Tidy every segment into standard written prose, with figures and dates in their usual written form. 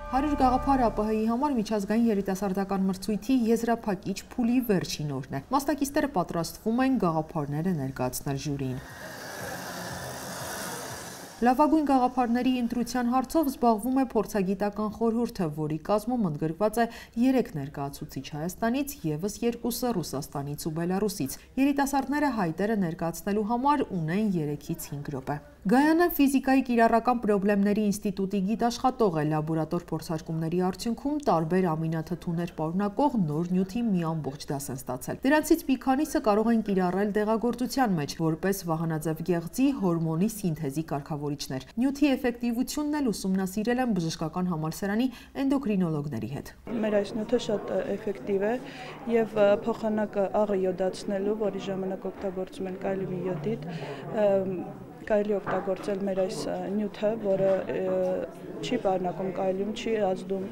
100 գաղափար ԱՊՀ-ի համար միջազգային երիտասարդական մրցույթի եզրափակիչ փուլի վերջին օրն է։ Մասնակիցները պատրաստվում են գաղափարները ներկայացնել ժյուրիին։ Լավագույն գաղափարների ընտրության հարցով զբաղվում է փորձագիտական խորհուրդը, որի կազմում ընդգրկված է 3 ներկայացուցիչ Հայաստանից, ևս 2-ը Ռուսաստանից ու Բելարուսից։ Երիտասարդները հայտերը ներկայացնելու համար ունեն 3-ից 5 րոպե։ Գայանը ֆիզիկայի կիրառական պրոբլեմների ինստիտուտի գիտաշխատող է, լաբորատոր փորձարկումների արդյունքում տարբեր ամինաթթուներ պարունակող նոր նյութի մի ամբողջ դաս են ստացել։ Դրանցից մի քանիսը կարող են կիրառել դեղագործության մեջ, որպես վահանաձև գեղձի հորմոնի սինթեզի կարգավորիչներ։ Նյութի էֆեկտիվությունն էլ ուսումնասիրել են բժշկական համալսարանի էնդոկրինոլոգների հետ։ Մեր այս նյութը շատ էֆեկտիվ է եւ փոխանակը աղը յոդացնելու, որի ժամանակ օգտագործում են կալիումի յոդիդ, կարելի օգտագործել մեր այս նյութը, որը չի պարունակում կալիում, չի ազդում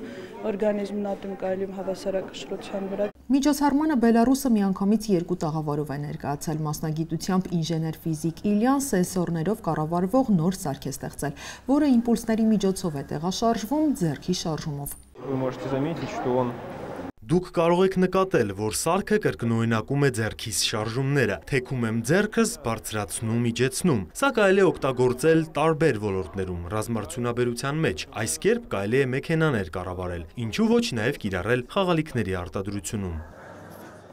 օրգանիզմն ատում կալիում հավասարակշռության վրա։ Միջոցառմանը Բելարուսը միանգամից 2 տաղավարով է ներկայացել, մասնագիտությամբ ինժեներ-ֆիզիկ Իլյան սենսորներով կառավարվող նոր սարք է ստեղծել, որը իմպուլսների միջոցով է տեղաշարժվում ձեռքի շարժումով։ Դուք կարող եք նկատել, որ սարքը կրկնօրինակում է ձեռքիս շարժումները, թեքում եմ ձեռքս, բարձրացնում, իջեցնում։ Սա կարելի է օգտագործել տարբեր ոլորտներում, ռազմարդյունաբերության մեջ, այս կերպ կարելի է մեքենաներ կառավարել, ինչու ոչ նաև կիրառել խաղալիքների արտադրությունում։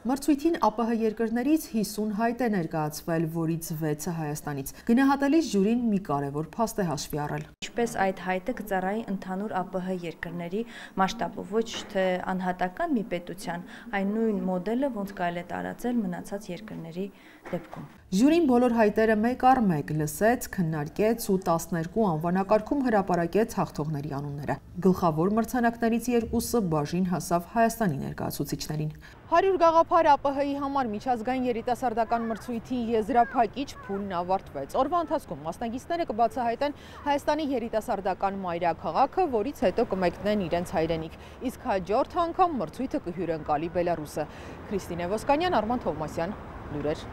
Մրցույթին ԱՊՀ երկրներից 50 հայտ է ներկայացվել, որից 6-ը Հայաստանից։ Գնահատելիս ժյուրին մի կարևոր փաստ է հաշվի առել։ Ինչպես այդ հայտը կծառայի ընդհանուր ԱՊՀ երկրների մասշտաբով, ոչ թե անհատական մի պետության, այն նույն մոդելը, ոնց կարելի է տարածել մնացած երկրների դեպքում։ Ժյուրին բոլոր հայտերը մեկ առ մեկ լսեց, քննարկեց ու 12 անվանակարգում հրապարակեց հաղթողների անունները։ Գլխավոր մրցանակներից 2-ը բաժին հասավ Հայաստանի ներկայացուցիչներին։ 100 գաղափար ԱՊՀ-ի համար միջազգային երիտասարդական մրցույթի եզրափակիչ փուլն ավարտվեց։ Օրվա ընթացքում մասնակիցները կբացահայտեն Հայաստանի երիտասարդական մայրաքաղաքը, որից հետո կմեկնեն իրենց հայրենիք։ Իսկ հաջորդ անգամ մրցույթը կհյուրընկալի Բելարուսը։ Քրիստինե Ոսկանյան, Արման Թովմասյան, լուրեր։